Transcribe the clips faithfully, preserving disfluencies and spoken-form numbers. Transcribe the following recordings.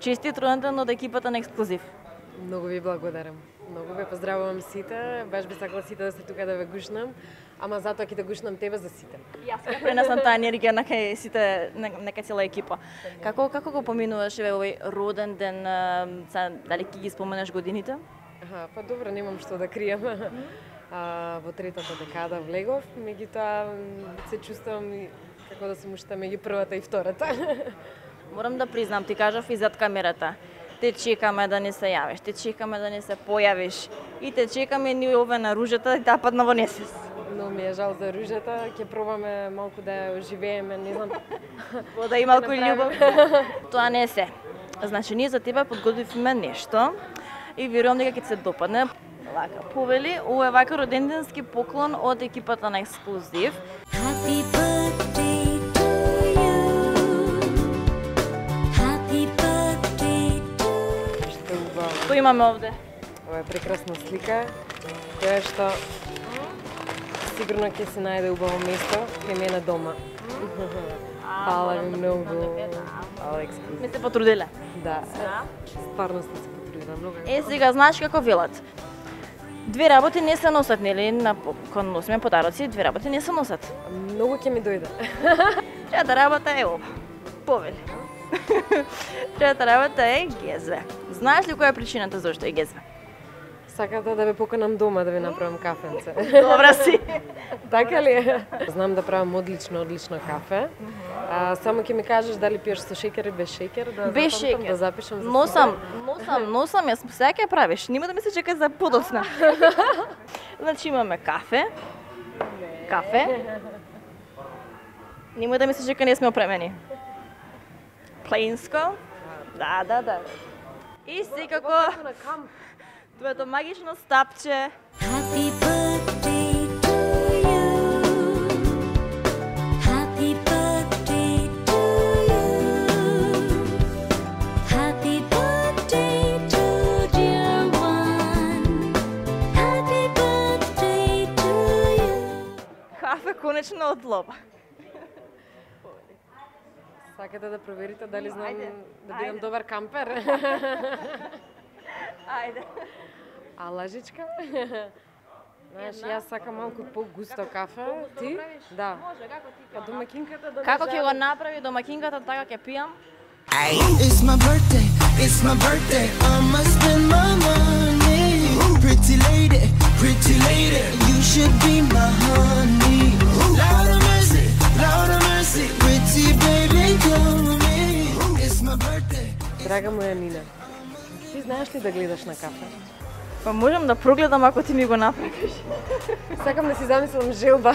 Честит роден ден од екипата на Ексклузив. Многу ви благодарам. Многу ве поздравувам сите. Баш би сакала сите да сте тука да ве гушнам, ама затоа ќе да гушнам тебе за сите. Јас ќе пренесам таа енергија на кај сите, нека цела екипа. Како како го поминуваш еве овој роден ден, са, дали ќе ги споменеш годините? Аха, па добро, немам што да крием. А, во третата декада влегов, меѓутоа се чувствувам како да сум уште меѓу првата и втората. Морам да признам, ти кажав и зад камерата. Те чекаме да не се јавиш, те чекаме да не се појавиш и те чекаме ни ове на ружата и таа падна во несвес. Но ми е жал за ружата, ќе пробаме малку да ја оживееме, не знам. Да и малку љубов. Тоа не се. Значи, ние за тебе подготвивме нешто и верувам дека ќе се допадне. Вака, повели, ова е вака роденденски поклон од екипата на Ексклузив. Happy birthday to you. Happy birthday to you. Што е убаво. Што имаме овде? Ова е прекрасна слика, која што сигурно ќе се најде убаво место кај мене дома. Фала ви многу. Фала Ексклузив. Ме се потрудиле. Да, стварно сте се потрудила многу. Е, сега знаеш како велат. Две работи не се носат, нели, на кон носиме подароци, две работи не се носат. Многу ќе ми дојде. Трета работа е ова. Повели. Трета работа е гезве. Знаеш ли која е причината зашто е гезве? Сакате да ве поканам дома да ви направам кафенце. Добра си. Така ли е? Знам да правам одлично, одлично кафе. А, само ќе ми кажеш дали пиеш со шеќер или без шеќер, да Без запамтам, шеќер. да запишам за Носам, себе. носам, носам, јас сега ќе правиш. Нема да ми се чека за подоцна. Значи имаме кафе. Кафе. Нема да ми се чека, не сме опремени. Плинско. Да, да, да. И секако На камп. твоето магично стапче. Happy birthday to you. Happy birthday to you. Happy birthday to dear one. Happy birthday to you. Кафе конечно од лоба. Сакате да проверите дали знам Ајде, да бидам ајде. добар кампер? Ајде. А лажичка? Знаеш, јас сакам малку по-густо кафе. Ти? Да. Може, како ти Па домакинката да Како ќе го направи домакинката, така ќе пијам. Ay, it's my birthday, it's my birthday. I'ma spend my money. Pretty lady, pretty lady, you should be my honey. Lord of mercy, Lord of mercy, pretty baby, come with me. It's my birthday. Драга моја Нина, ти знаеш ли да гледаш на кафе? Па можам да прогледам ако ти ми го направиш. Сакам да си замислам желба.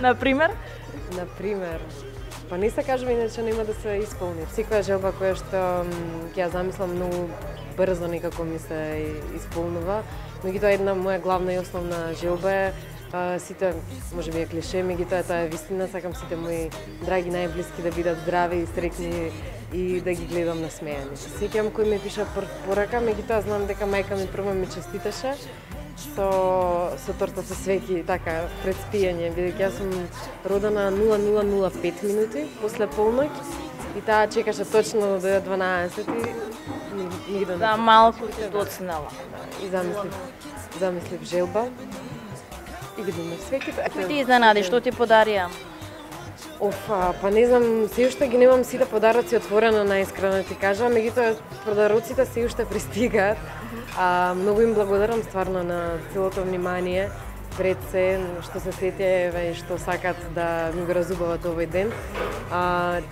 Например, Например, па не се кажува иначе нема да се исполни. Секоја желба која што м, ќе ја замислам многу брзо некако ми се исполнува. Меѓутоа една моја главна и основна желба е а, сите, може би е клише, меѓутоа тоа е вистина, сакам сите мои драги најблиски да бидат здрави и среќни и да ги гледам насмејани. Сеќавам кој ми пиша прв порака, меѓутоа знам дека мајка ми прво ми честиташе со со торта со свеќи, така пред спиење, бидејќи јас сум родена нула нула нула пет минути после полноќ и таа чекаше точно до дванаесет и ни- нигде не да се малку се доцнела. и замислив, замислив желба и видиме свеќите. Кој ти изненади, што ти подарија? Оф, а, па не знам, се уште ги немам сите подароци отворено, најискрено ти кажам, меѓутоа подароците се уште пристигаат. А, многу им благодарам стварно на целото внимание пред се што се сетија еве и што сакат да ми го разубават овој ден. А,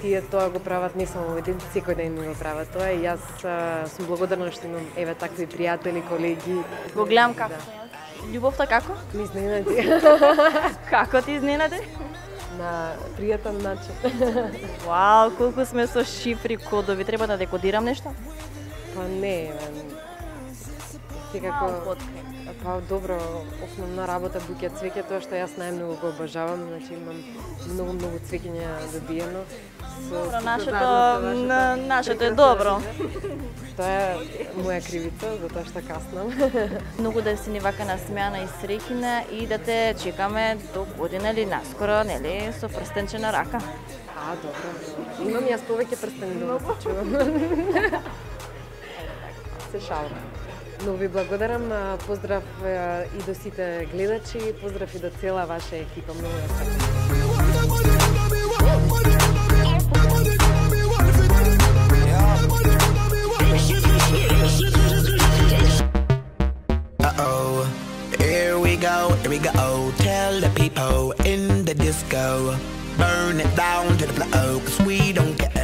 тие тоа го прават не само овој ден, секој ден ми го прават тоа и јас а, сум благодарна што имам еве такви пријатели, колеги. Го гледам како. Љубовта како? Ми изненади Како ти изненади? на пријатен начин. Вау, колку сме со шифри, кодови, треба да декодирам нешто? Па не, еве, секако, Малку откри. па добро, основна работа буќа цвеќе, тоа што јас најмногу го обожавам, значи имам многу многу цвеќиња добиено. Со Добро, сите нашето, заедно со на- вашето нашето е прекрасно добро. рожден. Тоа е моја кривица, затоа што каснам. Многу да си ни вака насмеана и среќна и да те чекаме до година или наскоро, нели, со прстенче на рака. А, добро. Имам јас повеќе прстени дома, се чувам. шалва. Но ви благодарам, а, поздрав а, и до сите гледачи, поздрав и до цела ваша екипа, многу ја сакам. Uh-oh, here we go, here we go. Tell the people in the disco, burn it down to the floor, 'cause we don't get